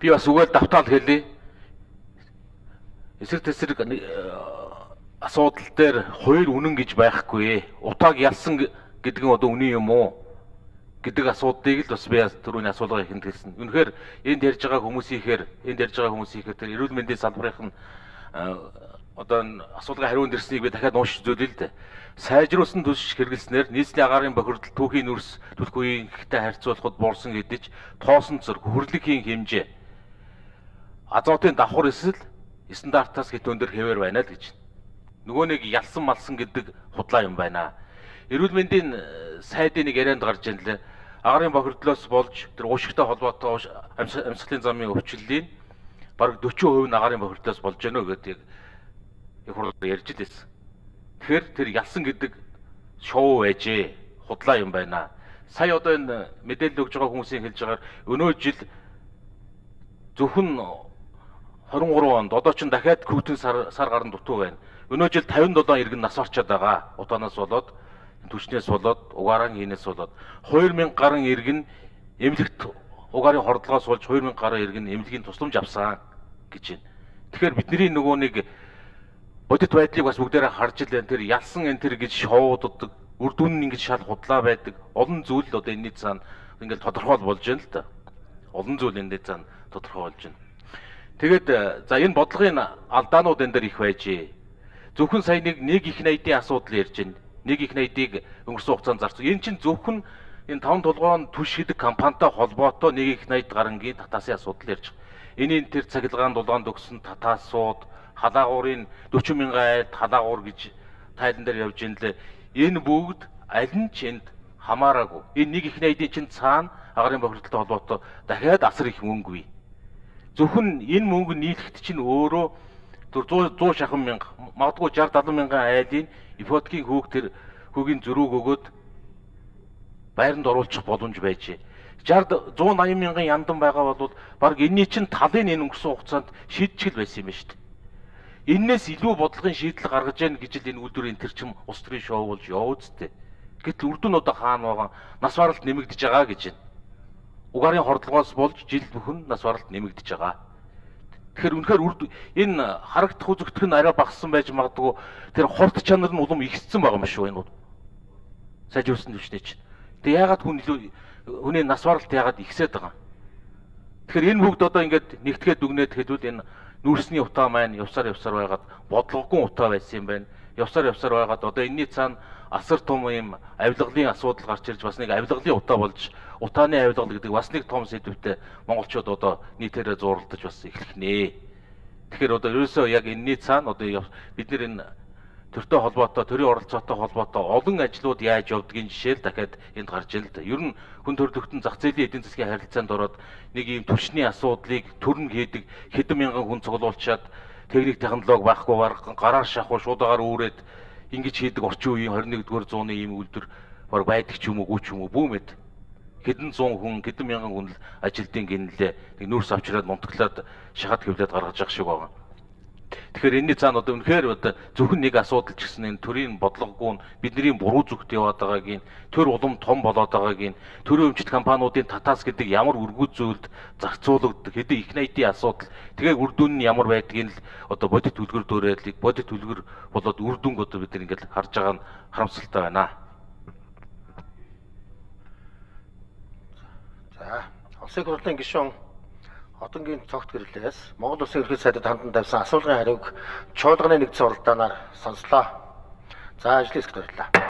Би бас үгээр давтаал хэлье. Эсрэг тесрэг асуудал дээр хоёр үнэн гэж байхгүй. Утааг ялсан гэдэг нь одоо үнэн юм уу гэдэг асуудлыг л бас би түрүүний асуулгыг ихэнд хэлсэн. Үнэхээр энд ярьж байгаа хүмүүсийнхээр тэр эрүүл мэндийн салбарынх нь одоо асуулгын хариунд ирснийг би дахиад уншиж зүйлээ л дээ. Сайжруулсан төсөж хэрэглэснээр нийслэлийн агаарын бохирдол түүхийн нүрс түлхүүрийнхтэй харьцуулахад буурсан гэдэж тоосон зэрэг хөрлөгийн хэмжээ азотын давхар эсэл стандартаас хэд өндөр хэвээр байна л гэж. Нөгөө нэг ялсан малсан гэдэг худлаа юм байна. Эрүүл мэндийн сайдын нэг ярианд гарч ийн лээ. Агаарын бохирдлоос болж тэр уушигтай холбоотой амьсгалын замын өвчлөлийн бараг 40% нь агаарын бохирдлоос болж байна гэдэг их хурд ярьж лээсэн. Тэгэхээр тэр ялсан гэдэг шоу байжээ. Худлаа юм байна. Сая одоо энэ мэдээлэл өгж байгаа хүмүүсийн хэлж байгаагаар өнөө жил зөвхөн 23 онд одоо ч дахиад хүүтэн сар гарan дутуу байна. Өнөө жил 57 иргэн нас орчоод байгаа. Утаанаас болоод, түвшнээс болоод, угаараа хийнээс болоод 2000 гаруй иргэн эмнэлэгт угаарын хордлогоос болж 2000 гаруй иргэн эмнэлгийн тусламж авсан гэж байна. Тэгэхээр бидний нөгөө нэг бодит байдлыг бас бүгдээрээ харж л байна. Тэр ялсан энэ тэр гэж шоуддаг, үр дүн нь ингэж шал худлаа байдаг. Олон зүйл одоо энэний цаана ингээл тодорхой болж байна л да. Олон зүйл энэний цаана тодорхой болж байна. Тэгээд за энэ бодлогын алдаанууд энэ дээр их байжээ. Зөвхөн сая нэг их найдын асуудал ярьж байна. Нэг их найдыг өнгөрсөн хугацаанд зарцсан. Энэ чинь зөвхөн энэ 5 толгойн түш гэдэг компанитай холбоотой нэг их найд гарангийн татаасын асуудал ярьж байгаа. Энийн тэр цахилгаан дулаанд өгсөн татаасууд, халаагуурын 40 мянган айлд халаагуур гэж тайлан дээр явж ин лээ. Энэ бүгд аль нь ч энд хамаараагүй. Энэ нэг их найдын чинь цаана агаарын бохирдолтой холбоотой дахиад асар их мөнгө бий. Зөвхөн энэ мөнгө нийлэхэд чинь өөрөө 100 шахан мянга, магадгүй 60-70 мянган айлын ипотекийн хүүгийн зөрүүг өгөөд байранд оруулах боломж байжээ. 180 мянган яндан байгаа бол баг энэний чинь талын энэ өнгөрсөн хугацаанд шийдчихэл байсан юм байна шүү дээ. Эннээс илүү бодлогын шийдэл гаргаж яах гэж л энэ үйлдвэрийн тэр чим улс төрийн шоу болж явуудтэй. Гэтэл үрдүн одоо хаана байгаа нас баралт нэмэгдэж байгаа гэж байна. Угаарын хордлогоос болж жил бүхэн нас баралт нэмэгдэж байгаа. Тэгэхээр үнэхээр энэ харагдах үзэгдэх нь арай багассан байж магадгүй тэр хорт чанар нь улам ихссэн байгаа юм шүү энэ. Сайжруулсан төвчнээ чинь. Тэгээ яагаад хүний нас баралт яагаад ихсээд байгаа. Тэгэхээр энэ бүгд одоо ингээд нэгтгэхэд дүгнээд хэлвэл энэ нүүрсний утаа маань явсаар байгаад бодлогогүй утаа байсан юм байна. Явсаар байгаад одоо энэний цаана асар том юм авилгалын асуудал гарч ирж бас нэг авилгалын утаа болж утааны авилгал гэдэг бас нэг том сэдвтэй монголчууд одоо нийтээрээ зууралдаж бас эхлэх нэ. Тэгэхээр одоо ерөөсөө яг энэний цаана одоо бид нэр энэ төртэй холбоотой, төрийн оролцоотой холбоотой олон ажлууд яаж явдгийг жишээл дахиад энд гарч ирэл дээ. Ер нь хүн төрөлхтөн зах зээлийн эдийн засгийн харилцаанд ороод нэг ийм төвчний асуудлыг төрн хийдэг хэдэн мянган хүн цуглуулчаад техник технологи байхгүй гараар шахуу шуудагаар үүрээд ингэж хийдэг орчин үеийн 21-р зууны ийм үйлдвэр баг байдаг ч юм уу бүүмэд хэдэн зуун хүн хэдэн мянган хүн ажилтны гинлээ нэг нүүрс авчираад мунтаглаад шахаад хэвлээд гаргаж явах шиг байгаа. Тэгэхээр энэний цаана одоо үнэхээр одоо зөвхөн нэг асуудал ч гэсэн энэ төрийн бодлогогүй нь бидний буруу зүгт яваад байгаагийн төр улам том болоод байгаагийн төрийн өмчт компаниудын татаас гэдэг ямар үргүү зүйлд зарцуулагддаг хэдэн их найдын асуудал тэгээ үр дүн нь ямар байдгийг л одоо бодит үлгэр дуурайлыг бодит үлгэр болоод үр дүнг одоо бид ингээд харж байгаа нь харамсалтай байна. За, улсын хурлын гишүүн Одонгийн цогт гэрлээс Монгол Улсын ерөнхий сайдад хандан тавьсан асуулгын хариуг чуулганы нэгдсэн уралдаанаар сонслоо. За, ажлын хэсэгт баярлалаа.